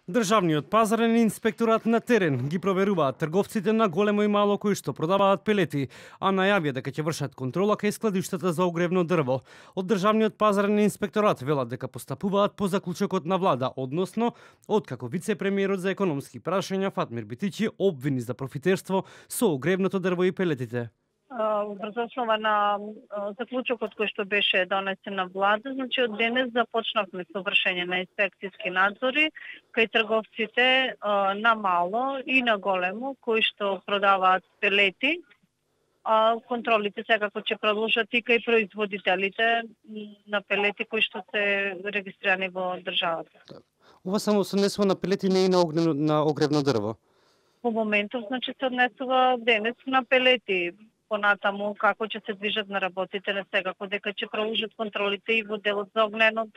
Државниот пазарен инспекторат на терен ги проверуваат трговците на големо и мало кои што продаваат пелети, а најавија дека ќе вршат контрола кај складиштата за огревно дрво. Од Државниот пазарен инспекторат велат дека постапуваат по заклучокот на влада, односно откако вице-премиерот за економски прашања Фатмир Битичи обвини за профитерство со огревното дрво и пелетите. Врз основа на заклучокот кој што беше донесен на влада, значи од денес започнавме со вршење на инспекцијски надзори кај трговците на мало и на големо кои што продаваат пелети. Контролите секако ќе продолжат и кај производителите на пелети кои што се регистрирани во државата. Ова само се однесува на пелети, не и на огревно дрво? По моментов, значи се однесува денес на пелети. Понатаму како ќе се движат на работите, не секако дека ќе продолжат контролите и во делот за огнено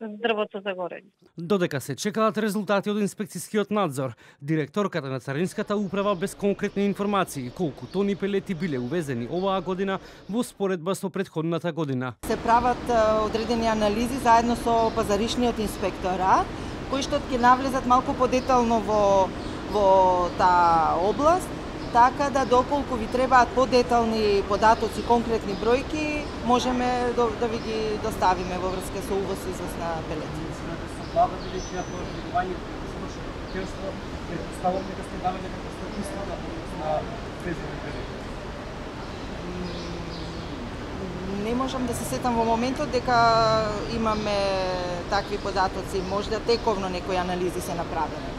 дрвото за горење. Додека се чекаат резултати од инспекцијскиот надзор, директорката на Царинската управа без конкретни информации колку тони пелети биле увезени оваа година во споредба со претходната година. Се прават одредени анализи заедно со пазаришниот инспекторат, кои што ќе навлезат малку подетално во таа област. Така да доколку ви требаат подетални податоци, конкретни бројки, можеме да ви ги доставиме во врска со увоз и извоз на пелети. Не можам да се сетам во моментот дека имаме такви податоци, можда тековно некои анализи се направени.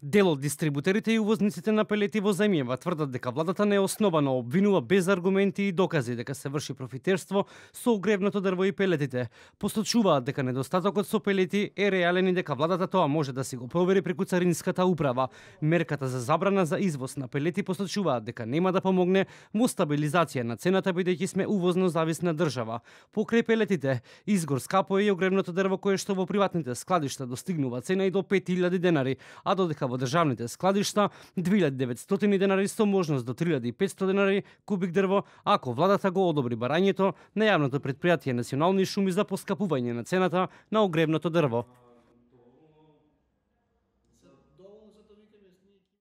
Дел од дистрибутерите и увозниците на пелети во земјава тврдат дека владата неосновано обвинува без аргументи и докази дека се врши профитерство со огревното дрво и пелетите. Посочуваат дека недостатокот со пелети е реален и дека владата тоа може да си го провери преку Царинската управа. Мерката за забрана за извоз на пелети посочуваат дека нема да помогне во стабилизација на цената бидејќи сме увозно зависна држава. Покрај пелетите, изгор скапо е и огревното дрво кое што во приватните складишта достигнува цена и до 5000 денари, а додека во државните складишта 2900 денари со можност до 3500 денари кубик дрво, ако владата го одобри барањето на јавното претпријатие Национални шуми за поскапување на цената на огревното дрво.